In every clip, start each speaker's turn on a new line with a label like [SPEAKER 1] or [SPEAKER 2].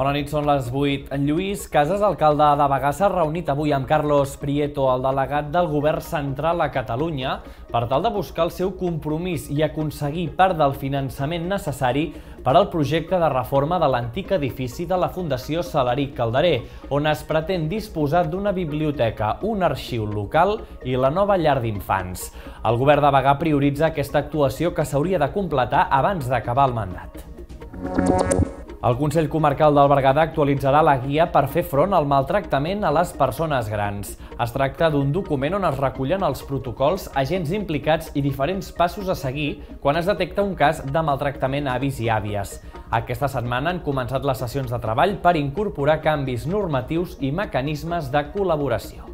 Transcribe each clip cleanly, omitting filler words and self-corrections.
[SPEAKER 1] Bona nit, són les 8. En Lluís Casas, alcalde de Bagà, s'ha reunit avui amb Carlos Prieto, el delegat del Govern Central a Catalunya, per tal de buscar el seu compromís i aconseguir part del finançament necessari per al projecte de reforma de l'antic edifici de la Fundació Salaric Calderer, on es pretén disposar d'una biblioteca, un arxiu local i la nova llar d'infants. El Govern de Bagà prioritza aquesta actuació que s'hauria de completar abans d'acabar el mandat. El Consell Comarcal del Berguedà actualitzarà la guia per fer front al maltractament a les persones grans. Es tracta d'un document on es recullen els protocols, agents implicats i diferents passos a seguir quan es detecta un cas de maltractament a avis i àvies. Aquesta setmana han començat les sessions de treball per incorporar canvis normatius i mecanismes de col·laboració.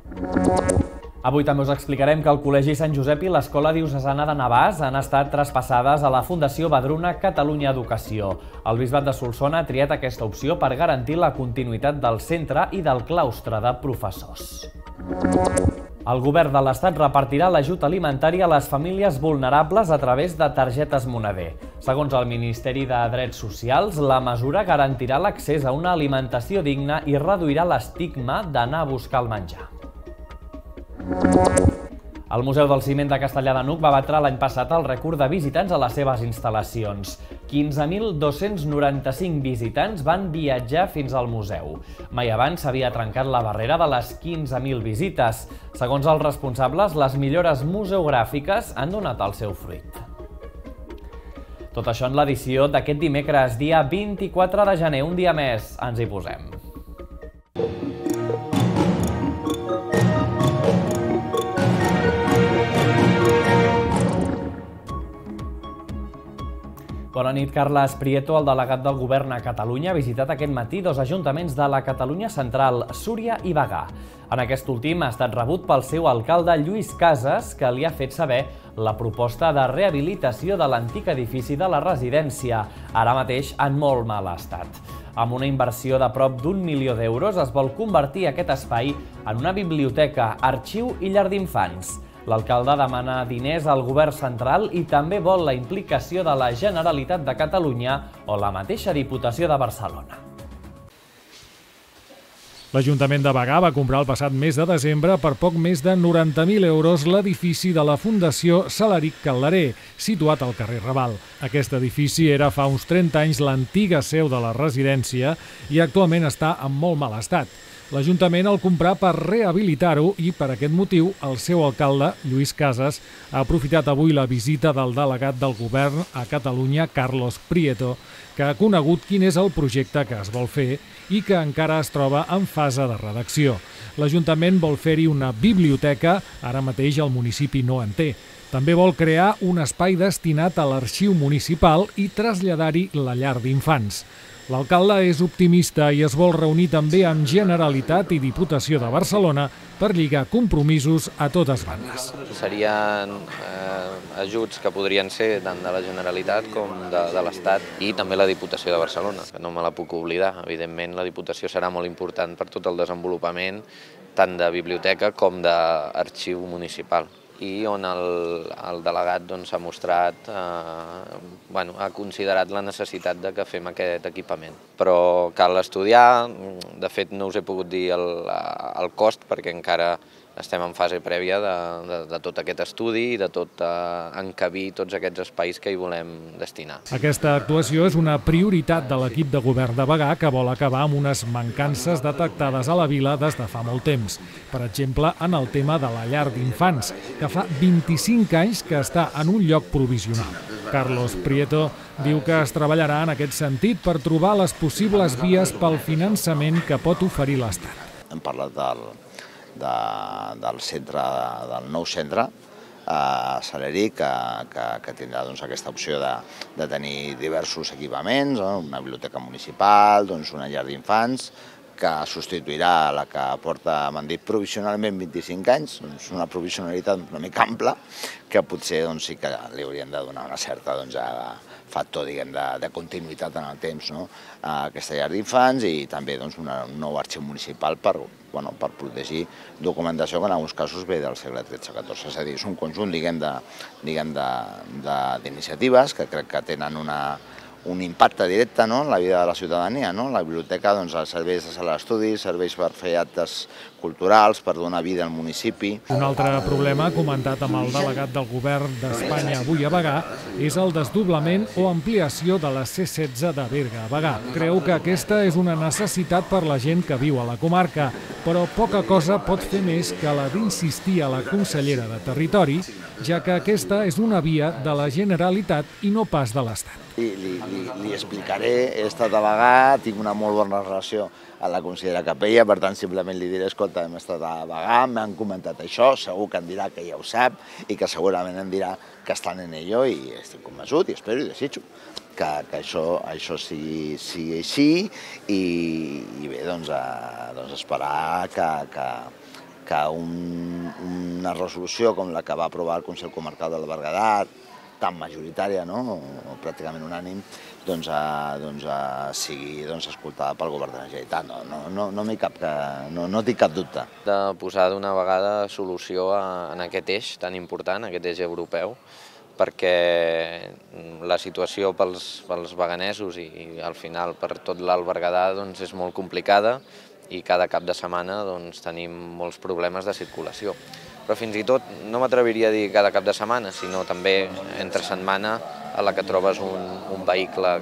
[SPEAKER 1] Avui també us explicarem que el Col·legi Sant Josep i l'Escola Diocesana de Navàs han estat traspassades a la Fundació Badruna Catalunya Educació. El Bisbat de Solsona ha triat aquesta opció per garantir la continuïtat del centre i del claustre de professors. El Govern de l'Estat repartirà l'ajut alimentari a les famílies vulnerables a través de targetes moneder. Segons el Ministeri de Drets Socials, la mesura garantirà l'accés a una alimentació digna i reduirà l'estigma d'anar a buscar el menjar. El Museu del Ciment de Castellar de N'Hug va batre l'any passat el rècord de visitants a les seves instal·lacions. 15.295 visitants van viatjar fins al museu. Mai abans s'havia trencat la barrera de les 15.000 visites. Segons els responsables, les millores museogràfiques han donat el seu fruit. Tot això en l'edició d'aquest dimecres, dia 24 de gener, un dia més. Ens hi posem. Bona nit. Carles Prieto, el delegat del Govern a Catalunya, ha visitat aquest matí dos ajuntaments de la Catalunya central, Súria i Bagà. En aquest últim ha estat rebut pel seu alcalde Lluís Casas, que li ha fet saber la proposta de rehabilitació de l'antic edifici de la residència, ara mateix en molt mal estat. Amb una inversió de prop d'1 milió d'euros es vol convertir aquest espai en una biblioteca, arxiu i llar d'infants. L'alcalde demana diners al Govern central i també vol la implicació de la Generalitat de Catalunya o la mateixa Diputació de Barcelona.
[SPEAKER 2] L'Ajuntament de Bagà va comprar el passat mes de desembre per poc més de 90.000 euros l'edifici de la Fundació Salaric Calderer, situat al carrer Raval. Aquest edifici era fa uns 30 anys l'antiga seu de la residència i actualment està en molt mal estat. L'Ajuntament el comprà per rehabilitar-ho i, per aquest motiu, el seu alcalde, Lluís Casas, ha aprofitat avui la visita del delegat del Govern a Catalunya, Carlos Prieto, que ha conegut quin és el projecte que es vol fer i que encara es troba en fase de redacció. L'Ajuntament vol fer-hi una biblioteca, ara mateix el municipi no en té. També vol crear un espai destinat a l'arxiu municipal i traslladar-hi la llar d'infants. L'alcalde és optimista i es vol reunir també amb Generalitat i Diputació de Barcelona per lligar compromisos a totes bandes.
[SPEAKER 3] Serien ajuts que podrien ser tant de la Generalitat com de l'Estat i també la Diputació de Barcelona, que no me la puc oblidar. Evidentment, la Diputació serà molt important per tot el desenvolupament tant de biblioteca com d'arxiu municipal, i on el delegat s'ha mostrat, ha considerat la necessitat que fem aquest equipament. Però cal estudiar, de fet no us he pogut dir el cost perquè encara estem en fase prèvia de tot aquest estudi i de tot encabir tots aquests espais que hi volem destinar.
[SPEAKER 2] Aquesta actuació és una prioritat de l'equip de govern de Bagà que vol acabar amb unes mancances detectades a la vila des de fa molt temps. Per exemple, en el tema de la llar d'infants, que fa 25 anys que està en un lloc provisional. Carlos Prieto diu que es treballarà en aquest sentit per trobar les possibles vies pel finançament que pot oferir l'Estat.
[SPEAKER 4] Hem parlat del centre, del nou centre Salaric, que tindrà aquesta opció de tenir diversos equipaments, una biblioteca municipal, una llar d'infants, que substituirà la que porta, m'han dit, provisionalment 25 anys, una provisionalitat una mica ampla, que potser sí que li hauríem de donar una certa factor de continuïtat en el temps a aquesta llar d'infants i també un nou arxiu municipal per protegir documentació que en alguns casos ve del segle XIII-XIV. És a dir, és un conjunt d'iniciatives que crec que tenen un impacte directe en la vida de la ciutadania. La biblioteca, serveis de sala d'estudi, serveis per fer actes culturals, per donar vida al municipi.
[SPEAKER 2] Un altre problema comentat amb el delegat del govern d'Espanya avui a Bagà és el desdoblament o ampliació de la C16 de Berga a Bagà. Creu que aquesta és una necessitat per la gent que viu a la comarca, però poca cosa pot fer més que la d'insistir a la consellera de Territori, ja que aquesta és una via de la Generalitat i no pas de l'Estat.
[SPEAKER 4] Li explicaré, he estat a Bagà, tinc una molt bona relació amb la consellera Capella, per tant simplement li diré, escolta, hem estat a Bagà, m'han comentat això, segur que em dirà que ja ho sap i que segurament em dirà que estan en ello i estic convençut i espero i desitjo que això sigui així i bé, esperar que una resolució com la que va aprovar el Consell Comarcal del Berguedà, tan majoritària, o pràcticament unànim, sigui escoltada pel govern de la Generalitat. No tinc cap dubte.
[SPEAKER 3] De posar d'una vegada solució en aquest eix tan important, aquest eix europeu, perquè la situació pels baganesos i al final per tot l'Alt Berguedà és molt complicada i cada cap de setmana tenim molts problemes de circulació. Però fins i tot no m'atreviria a dir cada cap de setmana, sinó també entre setmana a la que trobes un vehicle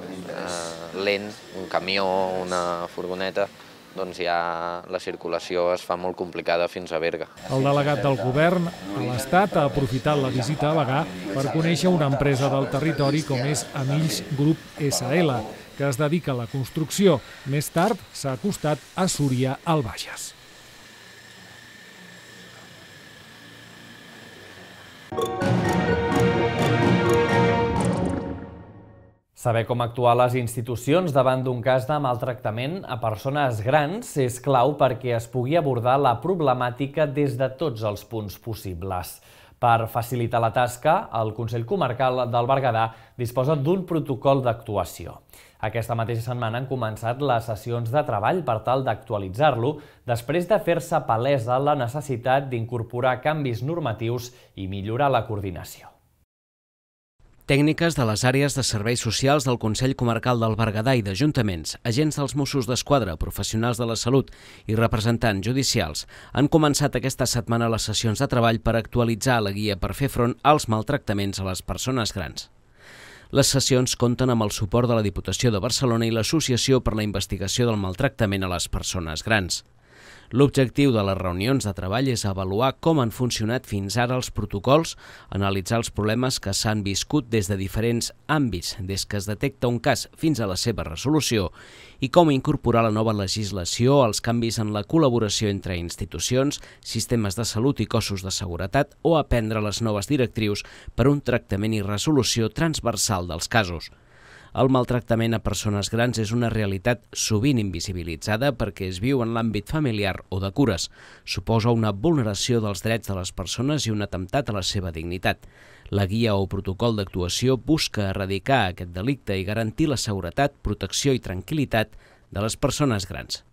[SPEAKER 3] lent, un camió, una furgoneta, doncs ja la circulació es fa molt complicada fins a Berga.
[SPEAKER 2] El delegat del govern a l'Estat ha aprofitat la visita a Bagà per conèixer una empresa del territori com és Amills Grup SL, que es dedica a la construcció. Més tard s'ha acostat a Súria, al Bages.
[SPEAKER 1] Saber com actuar les institucions davant d'un cas de maltractament a persones grans és clau perquè es pugui abordar la problemàtica des de tots els punts possibles. Per facilitar la tasca, el Consell Comarcal del Berguedà disposa d'un protocol d'actuació. Aquesta mateixa setmana han començat les sessions de treball per tal d'actualitzar-lo després de fer-se palesa la necessitat d'incorporar canvis normatius i millorar la coordinació.
[SPEAKER 5] Tècniques de les àrees de serveis socials del Consell Comarcal del Berguedà i d'ajuntaments, agents dels Mossos d'Esquadra, professionals de la salut i representants judicials han començat aquesta setmana les sessions de treball per actualitzar la guia per fer front als maltractaments a les persones grans. Les sessions compten amb el suport de la Diputació de Barcelona i l'Associació per la Investigació del Maltractament a les Persones Grans. L'objectiu de les reunions de treball és avaluar com han funcionat fins ara els protocols, analitzar els problemes que s'han viscut des de diferents àmbits, des que es detecta un cas fins a la seva resolució, i com incorporar la nova legislació, els canvis en la col·laboració entre institucions, sistemes de salut i cossos de seguretat o aprendre les noves directrius per un tractament i resolució transversal dels casos. El maltractament a persones grans és una realitat sovint invisibilitzada perquè es viu en l'àmbit familiar o de cures. Suposa una vulneració dels drets de les persones i un atemptat a la seva dignitat. La guia o protocol d'actuació busca erradicar aquest delicte i garantir la seguretat, protecció i tranquil·litat de les persones grans.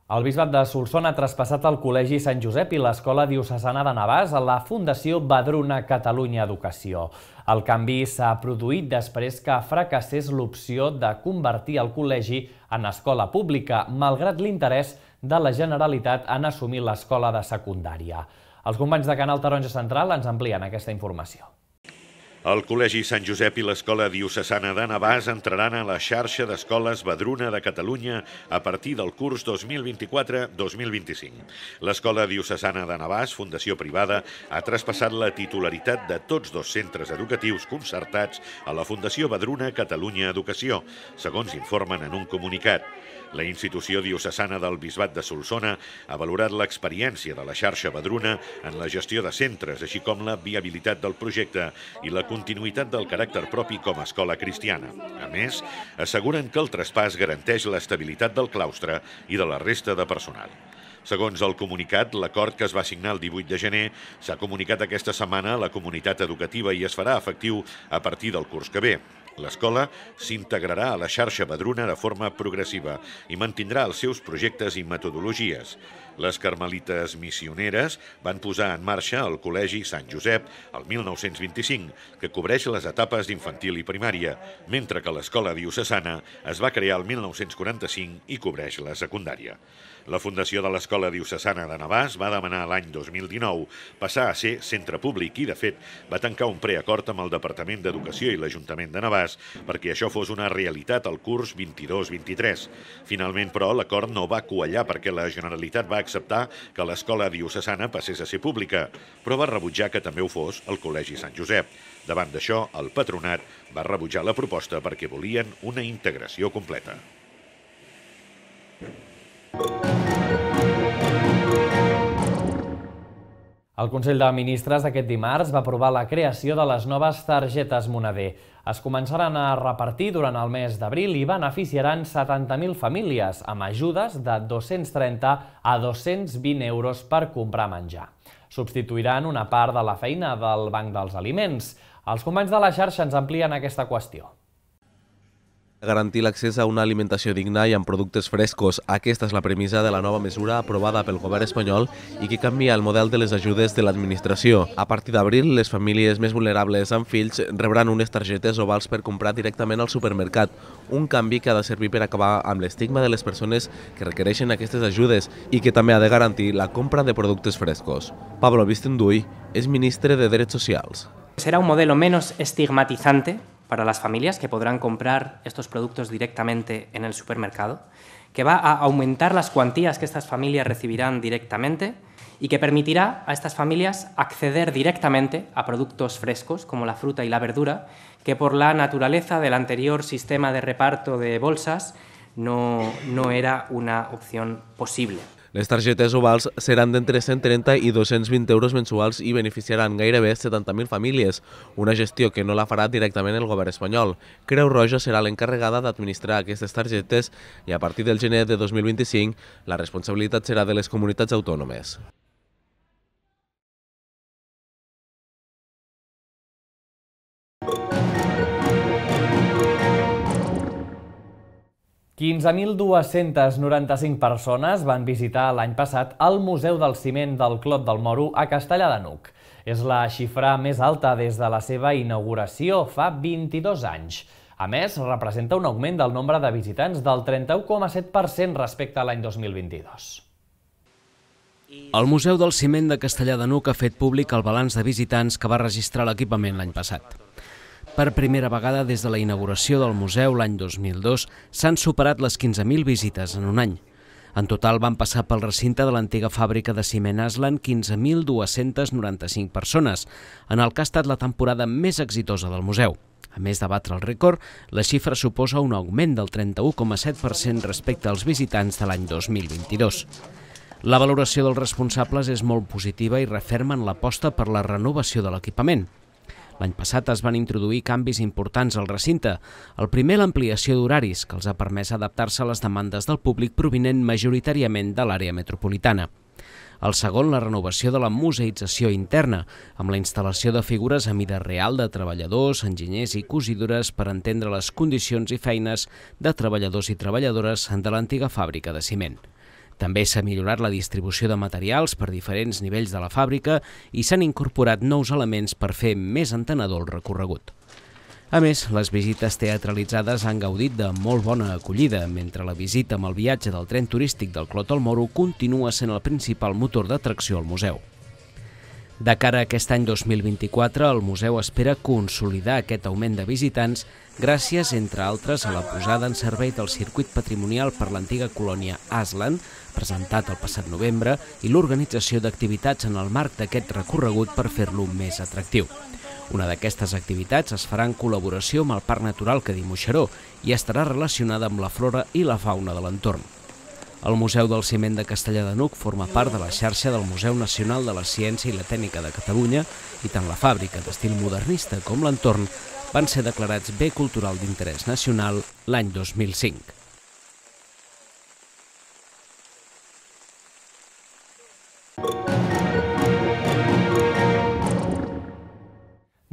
[SPEAKER 1] El Bisbat de Solsona ha traspassat el Col·legi Sant Josep i l'Escola Diocesana de Navàs a la Fundació Vedruna Catalunya Educació. El canvi s'ha produït després que fracassés l'opció de convertir el col·legi en escola pública, malgrat l'interès de la Generalitat en assumir l'escola de secundària. Els companys de Canal Taronja Central ens amplien aquesta informació.
[SPEAKER 6] El Col·legi Sant Josep i l'Escola Diocesana de Navàs entraran a la xarxa d'escoles Vedruna de Catalunya a partir del curs 2024-2025. L'Escola Diocesana de Navàs, fundació privada, ha traspassat la titularitat de tots dos centres educatius concertats a la Fundació Vedruna Catalunya Educació, segons informen en un comunicat. La institució diocesana del Bisbat de Solsona ha valorat l'experiència de la xarxa Vedruna en la gestió de centres, així com la viabilitat del projecte i la continuïtat del caràcter propi com a escola cristiana. A més, asseguren que el traspàs garanteix l'estabilitat del claustre i de la resta de personal. Segons el comunicat, l'acord que es va signar el 18 de gener s'ha comunicat aquesta setmana a la comunitat educativa i es farà efectiu a partir del curs que ve. L'escola s'integrarà a la xarxa Vedruna de forma progressiva i mantindrà els seus projectes i metodologies. Les carmelites missioneres van posar en marxa el Col·legi Sant Josep el 1925, que cobreix les etapes d'infantil i primària, mentre que l'escola diocesana es va crear el 1945 i cobreix la secundària. La fundació de l'Escola Diocesana de Navàs va demanar l'any 2019 passar a ser centre públic i, de fet, va tancar un preacord amb el Departament d'Educació i l'Ajuntament de Navàs perquè això fos una realitat al curs 22-23. Finalment, però, l'acord no va quallar perquè la Generalitat va acceptar que l'Escola Diocesana passés a ser pública, però va rebutjar que també ho fos el Col·legi Sant Josep. Davant d'això, el patronat va rebutjar la proposta perquè volien una integració completa.
[SPEAKER 1] El Consell de Ministres d'aquest dimarts va aprovar la creació de les noves targetes Moneder. Es començaran a repartir durant el mes d'abril i beneficiaran 70.000 famílies amb ajudes de 230 a 220 euros per comprar menjar. Substituiran una part de la feina del Banc dels Aliments. Els companys de la xarxa ens amplien aquesta qüestió.
[SPEAKER 7] Garantir l'accés a una alimentació digna i amb productes frescos. Aquesta és la premissa de la nova mesura aprovada pel govern espanyol i que canvia el model de les ajudes de l'administració. A partir d'abril, les famílies més vulnerables amb fills rebran unes targetes ovals per comprar directament al supermercat, un canvi que ha de servir per acabar amb l'estigma de les persones que requereixen aquestes ajudes i que també ha de garantir la compra de productes frescos. Pablo Vistenduy és ministre de Drets Socials.
[SPEAKER 8] Será un modelo menos estigmatizante para las familias que podrán comprar estos productos directamente en el supermercado, que va a aumentar las cuantías que estas familias recibirán directamente y que permitirá a estas familias acceder directamente a productos frescos como la fruta y la verdura, que por la naturaleza del anterior sistema de reparto de bolsas no era una opción posible.
[SPEAKER 7] Les targetes ovals seran d'entre 130 i 220 euros mensuals i beneficiaran gairebé 70.000 famílies, una gestió que no la farà directament el govern espanyol. Creu Roja serà l'encarregada d'administrar aquestes targetes i a partir del gener de 2025 la responsabilitat serà de les comunitats autònomes.
[SPEAKER 1] $15.295 persones van visitar l'any passat el Museu del Ciment del Clot del Moro a Castellar de n'Hug. És la xifra més alta des de la seva inauguració fa 22 anys. A més, representa un augment del nombre de visitants del 31,7% respecte a l'any 2022.
[SPEAKER 5] El Museu del Ciment de Castellar de n'Hug ha fet públic el balanç de visitants que va registrar l'equipament l'any passat. Per primera vegada des de la inauguració del museu l'any 2002 s'han superat les 15.000 visites en un any. En total van passar pel recinte de l'antiga fàbrica de ciment Aslan 15.295 persones, en el que ha estat la temporada més exitosa del museu. A més de batre el rècord, la xifra suposa un augment del 31,7% respecte als visitants de l'any 2022. La valoració dels responsables és molt positiva i refermen l'aposta per la renovació de l'equipament. L'any passat es van introduir canvis importants al recinte. El primer, l'ampliació d'horaris, que els ha permès adaptar-se a les demandes del públic provinent majoritàriament de l'àrea metropolitana. El segon, la renovació de la museïtzació interna, amb la instal·lació de figures a mida real de treballadors, enginyers i cosidores per entendre les condicions i feines de treballadors i treballadores de l'antiga fàbrica de ciment. També s'ha millorat la distribució de materials per diferents nivells de la fàbrica i s'han incorporat nous elements per fer més entenedor el recorregut. A més, les visites teatralitzades han gaudit de molt bona acollida, mentre la visita amb el viatge del tren turístic del Clot del Moro continua sent el principal motor d'atracció al museu. De cara a aquest any 2024, el museu espera consolidar aquest augment de visitants gràcies, entre altres, a la posada en servei del circuit patrimonial per l'antiga colònia Aslan, presentat el passat novembre, i l'organització d'activitats en el marc d'aquest recorregut per fer-lo més atractiu. Una d'aquestes activitats es farà en col·laboració amb el Parc Natural Cadí Moixeró i estarà relacionada amb la flora i la fauna de l'entorn. El Museu del Ciment de Castellar de n'Hug forma part de la xarxa del Museu Nacional de la Ciència i la Tècnica de Catalunya i tant la fàbrica d'estil modernista com l'entorn van ser declarats bé cultural d'interès nacional l'any 2005.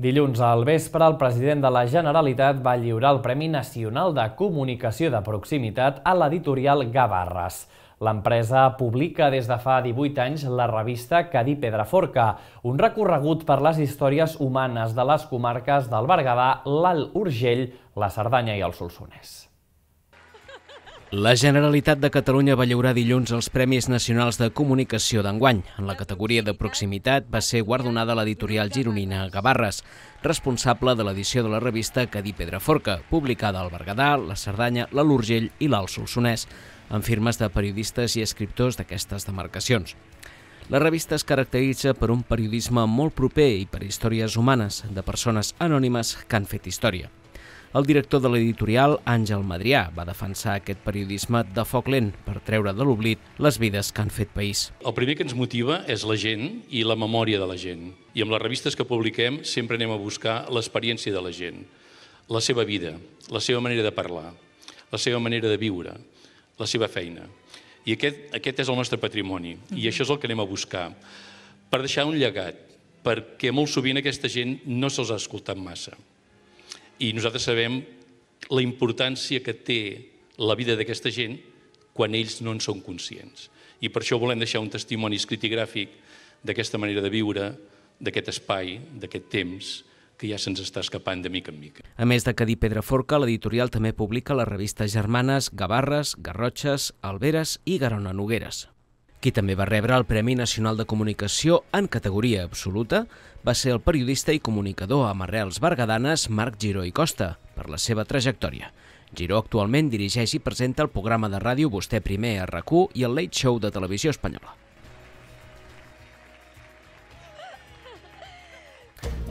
[SPEAKER 1] Dilluns al vespre, el president de la Generalitat va lliurar el Premi Nacional de Comunicació de Proximitat a l'editorial Gavarres. L'empresa publica des de fa 18 anys la revista Cadí Pedraforca, un recorregut per les històries humanes de les comarques del Berguedà, l'Alt Urgell, la Cerdanya i el Solsonès.
[SPEAKER 5] La Generalitat de Catalunya va lliurar dilluns els Premis Nacionals de Comunicació d'enguany. En la categoria de proximitat va ser guardonada l'editorial gironina Gavarres, responsable de l'edició de la revista Cadí Pedraforca, publicada al Berguedà, la Cerdanya, l'Alt Urgell i l'Alt Solsonès, amb firmes de periodistes i escriptors d'aquestes demarcacions. La revista es caracteritza per un periodisme molt proper i per històries humanes de persones anònimes que han fet història. El director de l'editorial, Àngel Madrià, va defensar aquest periodisme de foc lent per treure de l'oblit les vides que han fet país.
[SPEAKER 9] El primer que ens motiva és la gent i la memòria de la gent. I amb les revistes que publiquem sempre anem a buscar l'experiència de la gent, la seva vida, la seva manera de parlar, la seva manera de viure, la seva feina. I aquest és el nostre patrimoni i això és el que anem a buscar per deixar un llegat, perquè molt sovint aquesta gent no se'ls ha escoltat massa. I nosaltres sabem la importància que té la vida d'aquesta gent quan ells no en són conscients. I per això volem deixar un testimoni escrit i gràfic d'aquesta manera de viure, d'aquest espai, d'aquest temps, que ja se'ns està escapant de mica en mica.
[SPEAKER 5] A més de Cadí Pedraforca, l'editorial també publica les revistes germanes Gavarres, Garrotxes, Alberes i Garona Nogueres. Qui també va rebre el Premi Nacional de Comunicació en categoria absoluta va ser el periodista i comunicador amb arrels berguedanes Marc Giró i Costa, per la seva trajectòria. Giró actualment dirigeix i presenta el programa de ràdio Vostè Primer a RAC1 i el Late Show de Televisió Espanyola.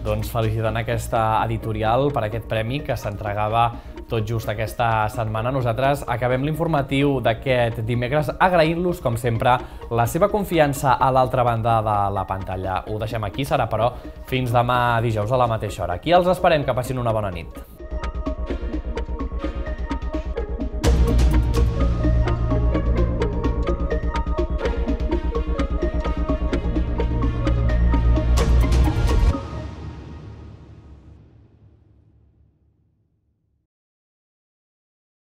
[SPEAKER 1] Doncs felicitant aquesta editorial per aquest premi que s'entregava tot just aquesta setmana. Nosaltres acabem l'informatiu d'aquest dimecres agraint-los, com sempre, la seva confiança a l'altra banda de la pantalla. Ho deixem aquí, serà però fins demà dijous a la mateixa hora. Aquí els esperem, que passin una bona nit.